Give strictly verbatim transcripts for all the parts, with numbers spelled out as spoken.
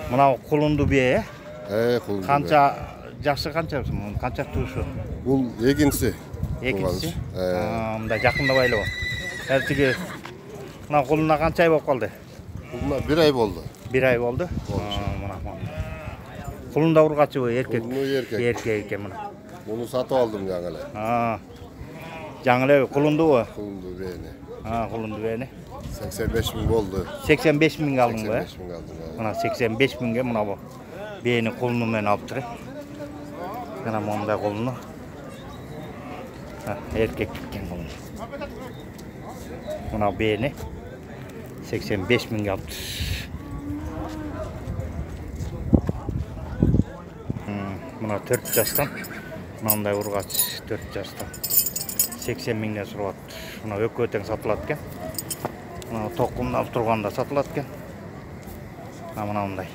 Мына кулунду бие, Э, кулунду. канча жашы канча? Канча туушу? Бул экинчиси. Экинчиси. Мында жакындабайлы. Эртиги мына кулуна канча ай болуп калды? Кулуна бир ай болду. Бир ай болду. Мына. Кулунда ургачыбы, эркек? Кулуну эркек. Эркек экен мына. Муну сатып алдым жаңы эле. А. Жаңы эле кулундубу? Кулунду бээни. А, кулунду бээни. сексен беш миң болду. сексен беш миңге алдыңбы? сексен беш миң алдым. Мына сексен беш миңге мына бу бээни кулуну менен алыптыр. Мына мондай кулуну. Эркек экен кулун. Мына бээни сексен беш миңге алыптыр. Мына төрт жастан мындай ургач төрт жастан сексен миңден сурап атты. Мына өкө тең сатылат экен. Мына токумдап турганда сатылат экен. Мына мындай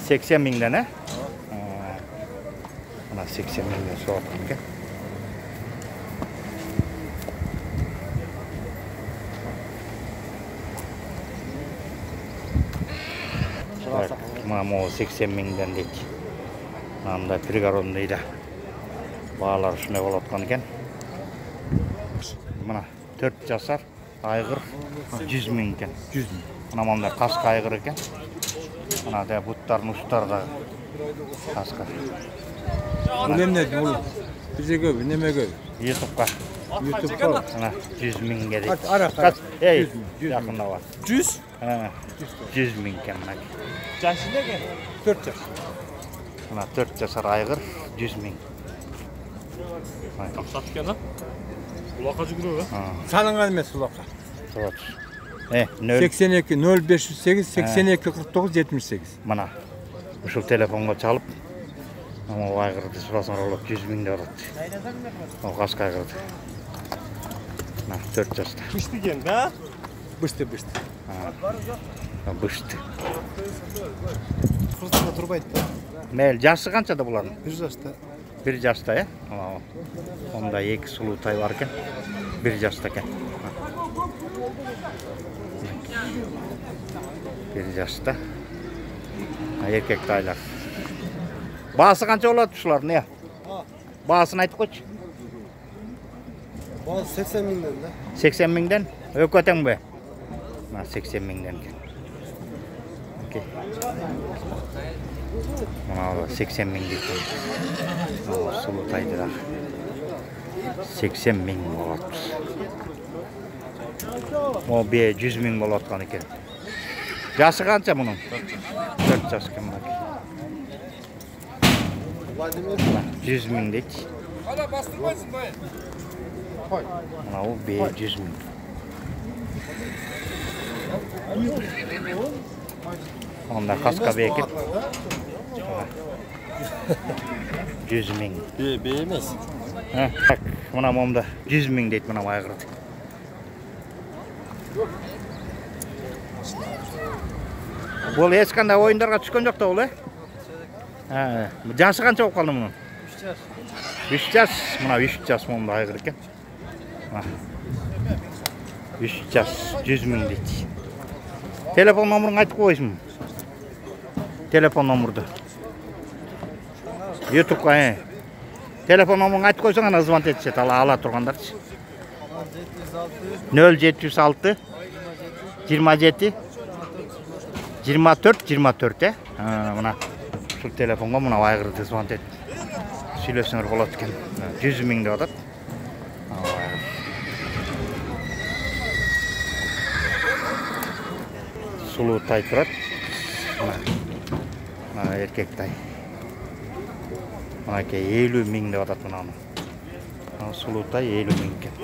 сексен миңден, э? Мына сексен миңден сурап аткан экен. Мына могу сексен миңден дейт. Мындай пригородный да баалар ушундай болуп аткан экен. Мына төрт жасар айгыр жүз миң экен. жүз миң. Мына мындай каска айгыр экен. Мына да буттардын устары да каска. Эмне бул? Бизге неме көп? YouTube'га. YouTube'га Мына жүз миңге дейт. Ара кара. Эй, жакындабы. жүз? Ха, жүз миң экен мына. Жашы неге? төрт жаш. Мына төрт жасар айгыр жүз миң. Акчат экен, а? Улакка жүгүрөбү? Салынган эмес улакка. Турат. Э, нөл сексен эки нөл беш жүз сегиз сексен эки кырк тогуз жетимиш сегиз. Мына ушул телефонго чалып, ама айгырды сурасаңар болот, жүз миң деп атат. О каска айгырды. Мына төрт жашта. Бышты экен, да? Бышты, бышты. А, бышты. Кырсында турбайт да. Мел жашы канчада булардын? бир жашта. бир жашта, э? Онда эки сулуу тай бар экен. бир жашта экен. бир жашта. Эркек тайлар. Баасы канча болот ушулардын, э? Баасын айтып койчу. Баасы сексен миңден да. сексен миңден? Өкө теңби? Мына сексен миңден экен. Окей. Мына сексен миң дейт. Мына сулуу тайды да. сексен миң болот. Mo бе жүз миң болуп аткан экен. Жашы канча мунун? төрт жаш экен мына. Владимир жүз миң дейт. Ана бастырбайсың бай. Кой. Мына бул бе жүз миң. Онда каска бе экен. жүз миң. Бе, бе эмес. Ha, так, мына момда жүз миң дейт мына айгырды. Бул эч кандай оюндарга түшкөн жок да бул, э? Ha, жашы канча болуп калды мунун? үч жаш. үч жаш, мына үч жаш момда айгыр экен. үч жаш, жүз миң дейт. Телефон номерин айтып койсуң. Телефон номерду. YouTube'га, э. Телефон номерин айтып койсоң ана звонок этишет, ала ала тургандарчы. нөл жети жүз алты жыйырма жети жыйырма төрт жыйырма төрт, э? Мына ушул телефонго мына айгырды звонок этип сүйлөсөңөр болот экен. жүз миң деп атат. Сулуу тай турат. Мына эркек тай. Мына ке элүү миң деп атат мынаны. Мына сулуу тай элүү миң экен.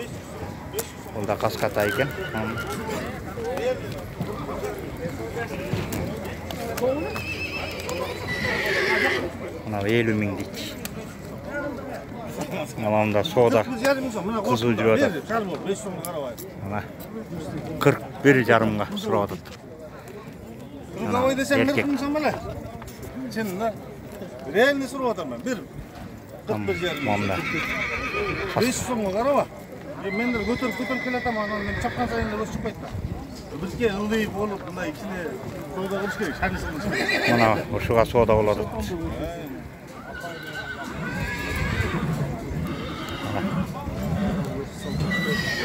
Бул да каска тай экен. Мына элүү миң дейт. Мына соода кызыл жүрүп атат. Мына кырк бир жарымга сурап атат. Кыргабай десем мен кымсам беле. Сен да реально сурап атам мен. Бир кырк бир жарым. Мында. беш сомго караба. Мендер көтөрүп көтөрүп келатам, анан мен чапкан сайын да өсүп чыкпайт да. Бизге ылдый болуп, мына ичине койда кылыш керек, шаңысы кылыш керек. Мына ушуга соода болот.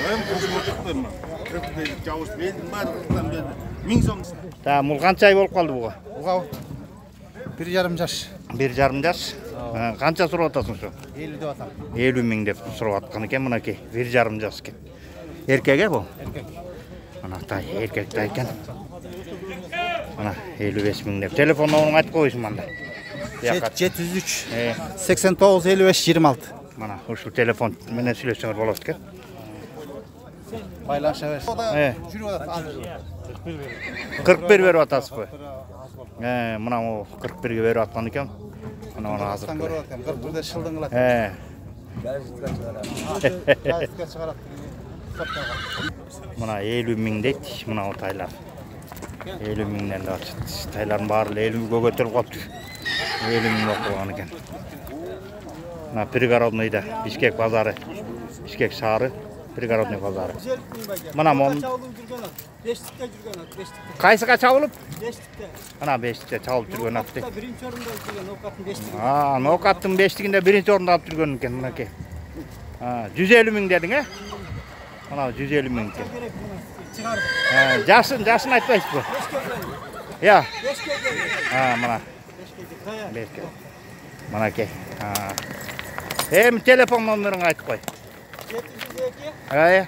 Hem koşmadıklarım. Köpükleri, çavuş verdim, barıktan verdim. Min so'm. Та, мул канча ай болуп калды буга? Буга bir жарым жаш. бир жарым жаш. Канча сурап атасың ушу? элүү деп атам. элүү миң деп сурап аткан экен мынакей. бир жарым жаш экен. Эркек э бул? Эркек. Мына тай, эркек тай экен. Мына элүү беш миң деп. Телефон номерин айтып коюшум анда. жети жүз үч Э, сексен тогуз элүү беш жыйырма алты. мына ушул телефон менен сүйлөшсөңөр болот экен. Байланыша берсин. Э, Жүрүп атат. кырк бир берип атасызбы? Э, мына о кырк бирге берип аткан экен. Мына мына азыр. көрүп атам. кырк бирде шылдың кылат. Э, Газетке чыгарат. мына элүү миң дейт, мына тайлар. элүү миңден да ачыт. Тайлардын баары элүүгө көтөрүп калыптыр. элүү миң болуп калган экен. Мына пригородныйда Бишкек базары, Бишкек шаары, пригородный базары. Мына мон Beşlikte жүргөн ат, beşlikte. кайсыга чабылып? Beşlikte. Мына бештикте чабылып жүргөн ат дейт. Birinci orunda жүргөн Окаттын beşligi. А, Нокаттын бештигинде биринчи орунду алып жүргөн экен мынакей. А, жүз элүү миң дедиң, э? Мына жүз элүү миң экен. Керек бuna çıkardık. А, жашын, жашын айтпайсызбы? Я. Beşke geldi. А, мына Beşke kaya. бешке. Мынакей. А. Эми телефон номерин айтып кой. yedi yüz iki, Ая.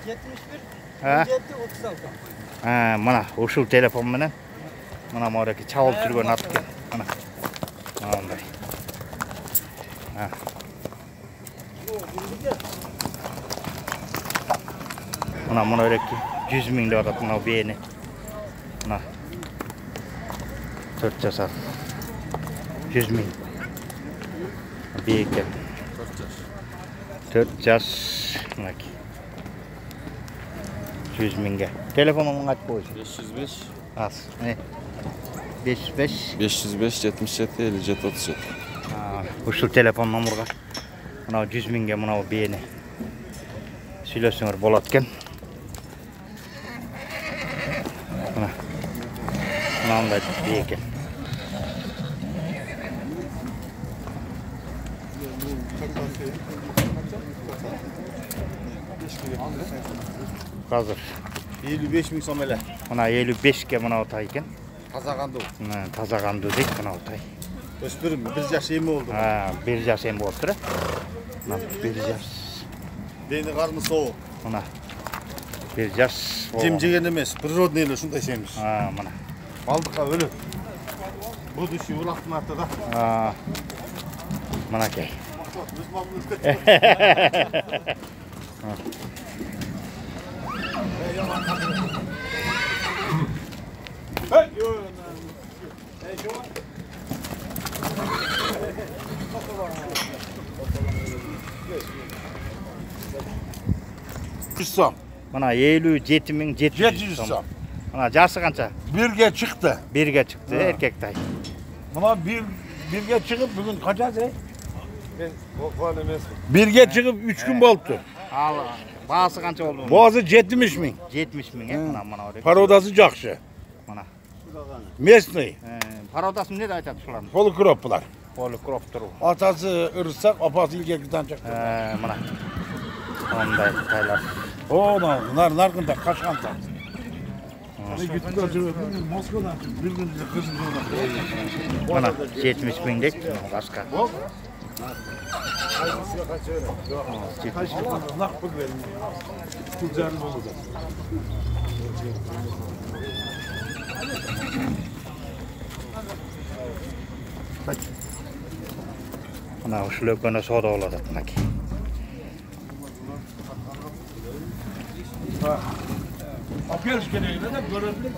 yetmiş bir, Ha. on yedi, otuz altı. А, мына ушул телефон менен мына мореки чабылып жүргөн ат экен. Мына. Мындай. А. Мына мореки жүз миң деп атат мына бээни. Мына. төрт жасар. жүз миң. Бейке. төрт жаш. Мынакей. жүз миңге. Телефонуңду айтып коюш. besh yuz besh Аз. Э. беш жүз беш. besh yuz besh жетимиш жети элүү жети отуз жети. Ушул телефон номерге мына жүз миңге мына бээни сүйлөсөңөр болот экен. Мына. Мындай бээ экен. Азыр elүү беш миң сом эле. мына элүү бешке мына тай экен. Таза кандуу. Мына таза кандуу дейт мына тай. Өспүрүм бир жаш эми болду. А, бир жаш эми болуптур э. Мына бир жаш. Дени карны соо. Мына бир жаш. Жем жеген эмес, природный эле ушундай семиз. А, мына. Балдыкка өлөт. Будущий улактын артында. А. Мынакей. Өз мамыбызды. жүз сом. Мына элүү жети миң жети жети жүз жүз сом. сом. Мына жасы канча? Бирге чыкты. Бирге чыкты, эркек тай. Мына бир бирге чыгып бүгүн качасы? Бирге чыгып үч күн болупту. Ал баасы канча болду? Баасы жетимиш миң. жетимиш миң э, мына мына орек. Породасы жакшы. Мына. Местный. Э, пародасы эмне деп айтат ушуларды? Полукроп булар. Полукроп туру. Атасы ырысак, апасы илгектен чыкты. Э, мына. Ондай тайлар. О, нар наркында качканда. Мына жетимиш миң дейт, башка. Мына ушул экөөнө соода болот атат мынакей. Apıyoruz gene de görüntü.